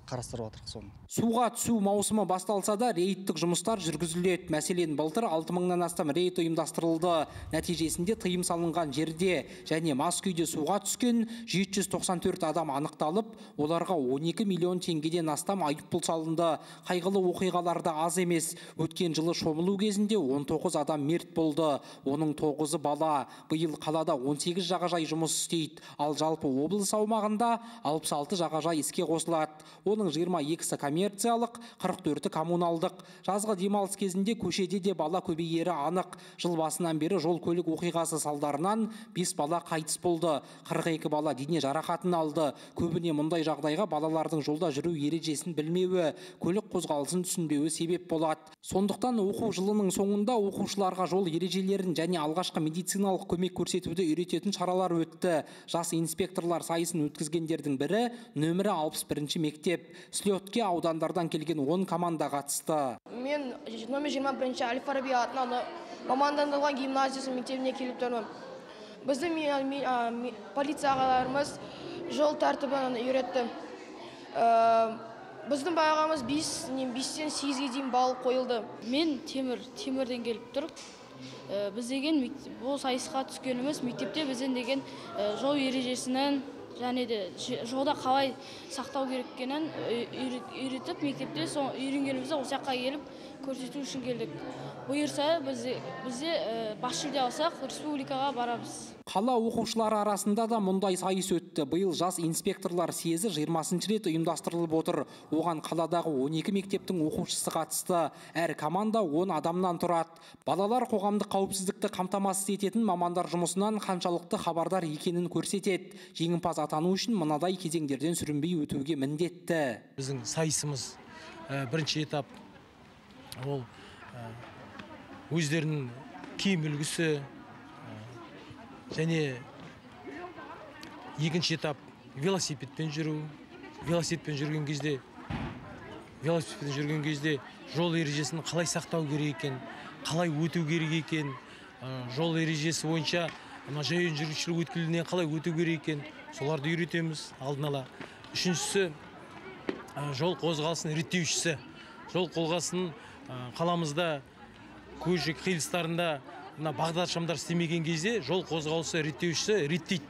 [SPEAKER 19] қарастырып жатырмыз соны.
[SPEAKER 18] Суға түсу маусымы басталса да рейдтік жұмыстар жүргізіледі. Мәселен, былтыр алты мыңнан астам рейд ұйымдастырылды. Нәтижесінде тыйым салынған жерде және мас күйде суға түскен жеті жүз тоқсан төрт адам анықталып, оларға он екі миллион теңгеден астам айыппұл салынды. Қайғылы оқиғаларда аз емес. Өткен жылы шомылу кезінде он тоғыз адам мерт болды. Оның тоғызы бала. Биыл қалада он сегіз жағажай жұмыс істейді. Ал жалпы облыс аумағында алпыс алты жағажай іске қосылады. Оның жиырма екісі коммерциялық, қырық төрті коммуналдық. Жазғы демалыс кезінде көшеде де бала көбейері анық. Жыл басынан бері жол көлік оқиғасы салдарынан бес бала қайтыс болды. қырық екі бала дене жарақатын алды. Көбіне мұндай жағдайға балалардың жолда жүру ережесін білмеуі, көлік қозғалысын түсінбеуі себеп болады. Сондықтан оқу жылының соңында оқушыларға жол ережелерін және алғашқы медициналық көмек көрсетуді үйрететін шаралар өтті. Жас инспекторлар сайысын өткізгендердің бірі нөмірі алпыс бірінші мектеп. Слетке аудандардан келген он команда қатысты.
[SPEAKER 20] Мен номер жиырма бірінші Әл-Фараби атындағы мамандандырылған гимназиясы мектебіне келіп тұрмын. Біздің полиция ағаларымыз жол тәртібін үйретті. Біздің бағамыз бестен сегізге дейін балл қойылды.
[SPEAKER 21] Мен Темір, Темірден келіп тұрып, біз деген бұл сайысқа түскеніміз мектепте бізден деген жол ережесінің және де жолда қалай сақтау керек екенін үйретіп, мектепте үйренгенімізді осы жаққа келіп көрсету үшін келдік. Бұйырса бізде бас жүлде алсақ, республикаға барамыз.
[SPEAKER 18] Қала оқушылары арасында да мұндай сайыс өтті. Биыл жас инспекторлар съезі жиырмасыншы рет ұйымдастырылып отыр. Оған қаладағы он екі мектептің оқушысы қатысты. Әр команда он адамнан тұрады. Балалар қоғамдық қауіпсіздікті қамтамасыз ететін мамандар жұмысынан қаншалықты хабардар екенін көрсетеді. Жеңімпаз атану үшін мынадай кезеңдерден сүрінбей өтуге міндетті.
[SPEAKER 22] Біздің сайысымыз бірінші этап ол өздерінің киім үлгісі, және екінші этап велосипедпен жүру. Велосипедпен жүрген кезде велосипедпен жүрген кезде жол ережесін қалай сақтау керек екен, қалай өту керек екен, жол ережесі бойынша жаяу жүргіншілік өткелінен қалай өту керек екен, соларды үйретеміз алдын ала. Үшіншісі жол қозғалысын реттеушісі. Жол қозғалысын қаламызда көші қиылыстарында бағдаршамдар істемеген кезде жол қозғалысы реттеушісі реттейді.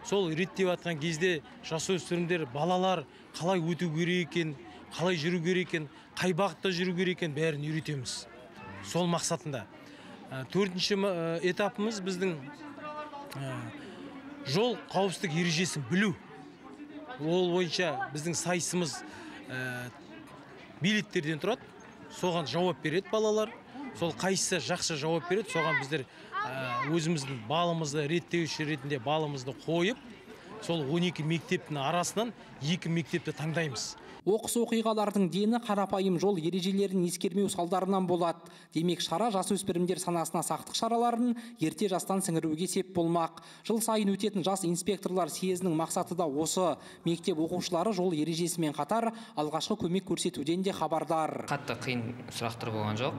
[SPEAKER 22] Сол реттеп атқан кезде жасөспірімдер, балалар қалай өту керек екен, қалай жүру керек екен, қай бағытта жүру керек екен, бәрін үйретеміз. Сол мақсатында. Төртінші этапымыз біздің жол қауіпсіздік ережесін білу. Ол бойынша біздің сайысымыз билеттерден тұрады. Соған жауап береді балалар. Сол қайсысы жақсы жауап береді, соған біздер өзіміздің балымызды реттеуші ретінде балымызды қойып, сол он екі мектептің арасынан екі мектепті таңдаймыз.
[SPEAKER 18] Оқыс оқиғалардың дені қарапайым жол ережелерін ескермеу салдарынан болады. Демек, шара жасөспірімдер санасына сақтық шараларын ерте жастан сіңіруге сеп болмақ. Жыл сайын өтетін жас инспекторлар съезінің мақсаты да осы. Мектеп оқушылары жол ережесімен қатар алғашқы көмек көрсетуден де хабардар.
[SPEAKER 23] Қатты қиын сұрақтар болған жоқ.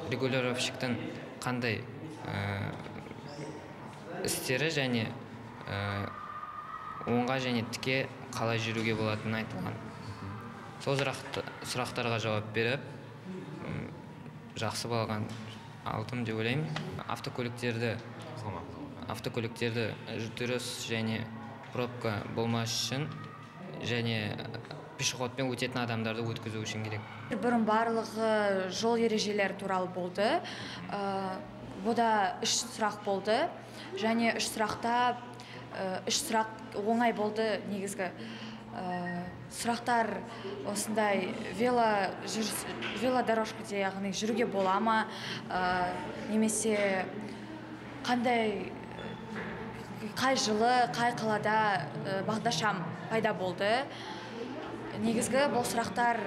[SPEAKER 23] Регулировщиктің қандай істері және оңға және тіке қалай жүруге болатынын айтылған. Сол сұрақтарға жауап беріп, жақсы болған алдым деп ойлаймын. Автокөліктерді автокөліктерді дұрыс және пробка болмас үшін және пешеходпен өтетін адамдарды өткізу үшін керек.
[SPEAKER 24] Бұрын барлығы жол ережелері туралы болды. Бұда үш сұрақ болды. Және үш сұрақта үш сұрақ оңай болды негізгі. Сұрақтар осындай велодорожкаде, яғни жүруге бола ма, немесе қандай қай жылы, қай қалада бағдаршам пайда болды. Негізгі бұл сұрақтар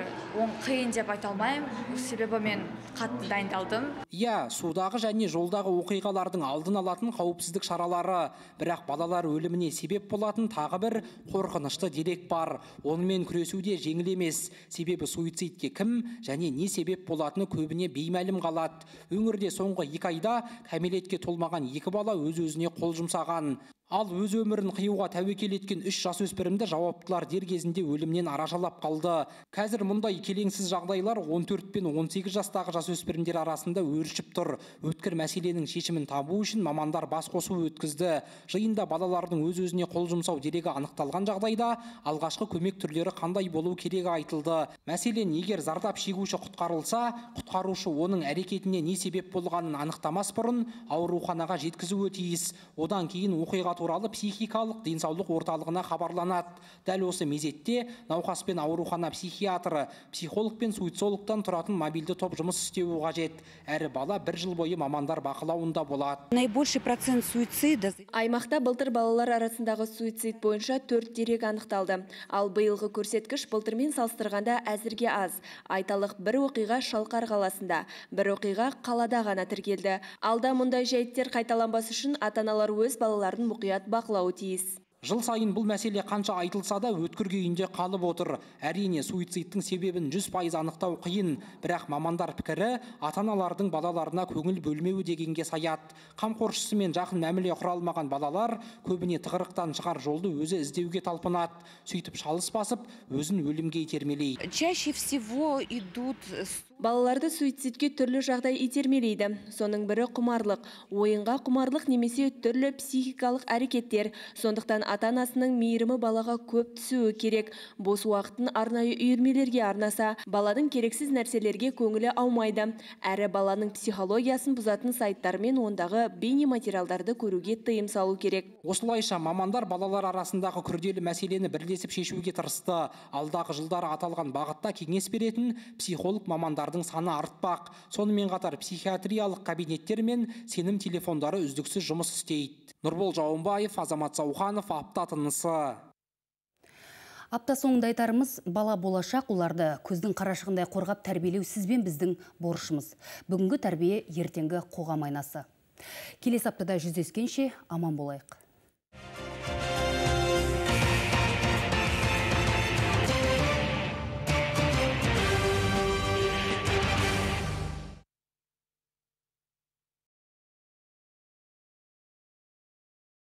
[SPEAKER 24] қиын деп айта алмаймын, себебі мен қатты дайындалдым.
[SPEAKER 18] Иә, судағы және жолдағы оқиғалардың алдын алатын қауіпсіздік шаралары, бірақ балалар өліміне себеп болатын тағы бір қорқынышты дерек бар. Онымен күресуде жеңіл емес, себебі суицидке кім және не себеп болатыны көбіне беймәлім қалады. Өңірде соңғы екі айда кәмелетке толмаған екі бала өз-өзіне қол жұмсаған. Ал өз өмірін қиюға тәуекел еткен үш жасөспірімді жауаптылар дер кезінде өлімнен арашалап қалды. Қазір мұндай келеңсіз жағдайлар он төрт пен он сегіз жастағы жасөспірімдер арасында өршіп тұр. Өткір мәселенің шешімін табу үшін мамандар бас қосу өткізді. Жиында балалардың өз-өзіне қол жұмсау дерегі анықталған жағдайда алғашқы көмек түрлері қандай болу керегі айтылды. Мәселен, егер зардап шегуші құтқарылса, құтқарушы оның әрекетіне не себеп болғанын анықтамас бұрын ауруханаға жеткізуі тиіс. Одан кейін оқиға туралы психикалық денсаулық орталығына хабарланады. Дәл осы мезетте науқаспен аурухана психиатры, психолог пен суицидологтан тұратын мобильді топ жұмыс істеуі қажет. Әрі бала бір жыл бойы мамандар бақылауында болады.
[SPEAKER 3] Наибольший процент суицида. Аймақта былтыр балалар арасындағы суицид бойынша төрт дерек анықталды. Ал биылғы көрсеткіш былтырмен салыстырғанда әзірге аз. Айталық бір оқиға Шалқар қаласында, бір оқиға қалада ғана тіркелді. Алда мұндай жайттер қайталанбас үшін ата-аналар өз балаларын мұқият бақылауы тиіс.
[SPEAKER 18] Жыл сайын бұл мәселе қанша айтылса да өткір күйінде қалып отыр. Әрине, суицидтің себебін жүз пайыз анықтау қиын, бірақ мамандар пікірі ата-аналардың балаларына көңіл бөлмеуі дегенге саяды. Қамқоршысымен жақын мәміле құра алмаған балалар көбіне тығырықтан шығар жолды өзі іздеуге талпынады. Сөйтіп шалыс басып, өзін өлімге итермелейді.
[SPEAKER 3] Чаще всего идут...
[SPEAKER 4] Балаларды суицидке түрлі жағдай итермелейді. Соның бірі құмарлық, ойынға құмарлық немесе түрлі психикалық әрекеттер. Сондықтан ата-анасының мейірімі балаға көп түсуі керек. Бос уақытын арнайы үйірмелерге арнаса, баланың керексіз нәрселерге көңілі аумайды. Әрі баланың психологиясын бұзатын сайттар мен ондағы бейне материалдарды көруге тыйым салу керек.
[SPEAKER 18] Осылайша мамандар балалар арасындағы күрделі мәселені бірлесіп шешуге тырысты. Алдағы жылдары аталған бағытта кеңес беретін психолог мамандар саны артпақ. Сонымен қатар психиатриялық кабинеттер мен сенім телефондары үздіксіз жұмыс істейді. Нұрбол Жауынбаев, Азамат Сауханов, апта тынысы.
[SPEAKER 1] Апта соңында айтарымыз, бала болашақ, оларды көздің қарашығындай қорғап тәрбиелеу сізбен біздің борышымыз. Бүгінгі тәрбие ертеңгі қоғам айнасы. Келесі аптада жүздескенше аман болайық.